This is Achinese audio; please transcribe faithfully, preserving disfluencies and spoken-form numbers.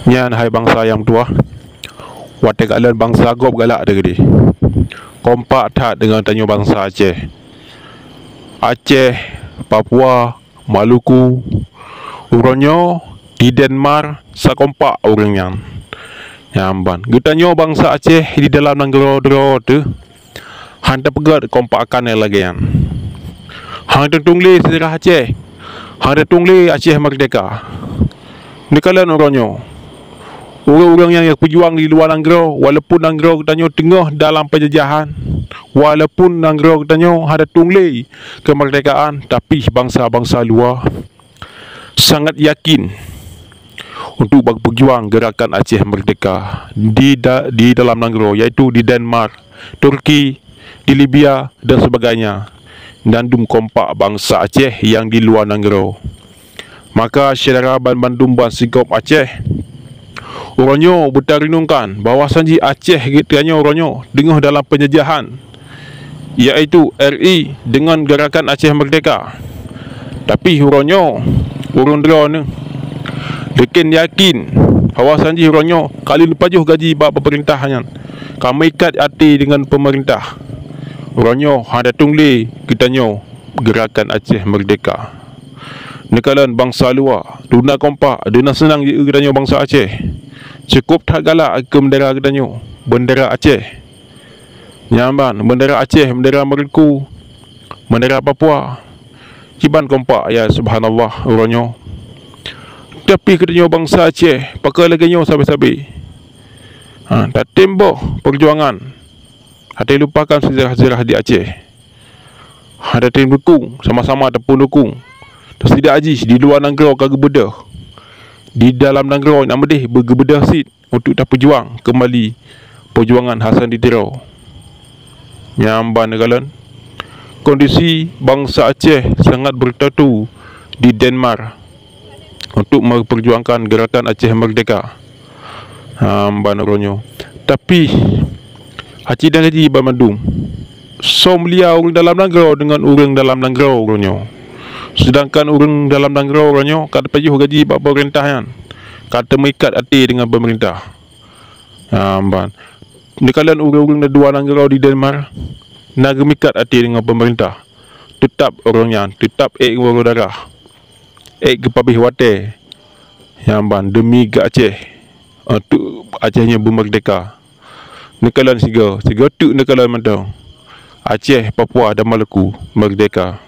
Nyan hai bansa nyang meutuwah, watée kalon bansa gob galak teuh keudeh. Kompak that deungon tanyoe bansa Aceh. Aceh, Papua, Maluku, uroe nyoe di Denmark sakompak ureuëng nyan. Nyan ban geutanyoe bansa Aceh di dalam nanggroe droe teuh hana teupeugét kompak akan nyang lagée nyan. Hana teutueng lé seujarah Aceh, hana teutueng lé Aceh meurdehka. Neukalon uroe nyoe, ureuëng-ureuëng nyang peujuang di luwa nanggroe, walaupun nanggroe geutanyoe teungoh dalam peunjajahan, walaupun nanggroe geutanyoe hana teutueng lé keumeurdehkaan, tapi bansa-bansa luwa sangat yakin untuk bak peujuang geurakan Aceh meurdehka di da-, di dalam nanggroe, yaitu di Denmark, Turki, di Libya dan sebagainya, dan dum kompak bansa Aceh nyang di luwa nanggroe. Maka syedara banmandum bansigom Aceh, uroe nyoe beutareunungkan bahwa sanji Aceh geutanyoe uroe nyoe teungoh dalam peunjajahan, yaitu R I deungon Geurakan Aceh Meurdehka. Tapi uroe nyoe, ureuëng droeneuh, leuken yakin bahwa sanji uroe nyoe ka lheueh pajoh gaji bak peumeurintah nyan, ka meuikat até deungon peumeurintah. Uroe nyoe hana teutueng lé geutanyoe Geurakan Aceh Meurdehka. Neukalon bansa luwa, duna kompak, duna seunang jieu geutanyoe bansa Aceh. Cukôp that galak keu beundera geutanyoe, beundera Aceh. Nyan ban, beundera Aceh, beundera Maluku, beundera Papua, kiban kompak, ya subhanallah, uroe nyoe. Tapi geutanyoe bansa Aceh, pakon lagée nyoe sabe-sabe. Ha, tatem boh peujuangan, hana lupakan seujarah-seujarah di Aceh. Hana tatem dukung, sama-sama tapeudukung. Tasidak jih di luwa nanggroe ka geubeudôh, di dalam nanggroe nyang meudeh beugeubeudôh cit untuk tapeujuang keumbali peujuangan Hasan di Tiro. Nyan ban neukalon, kondisi bansa Aceh sangat beutatu di Denmark untuk memperjuangkan Geurakan Aceh Meurdehka. Ha, ban uroe nyoe. Tapi, aci dan gaji banmandum, soe mulia ureuëng dalam nanggroe deungon ureuëng dalam nanggroe uroe nyoe. Seudangkan ureuëng dalam nanggroe uroe nyoe ka teupajoh gaji bak peumeurintah nyan, ka teumeuikat até deungon peumeurintah. Ha, ban. Neukalon ureuëng-ureuëng di luwa nanggroe di Denmark, na geumeuikat até deungon peumeurintah. Teutab ureuëng nyan, teutab ék geuwoe darah, ék geupabéh watée. Nyan ban, deumi geu Aceh, untuk Aceh nyoe beumeurdehka. Neukalon sigoe, sigoe teuk neukalon mantong. Aceh, Papua dan Maluku meurdehka.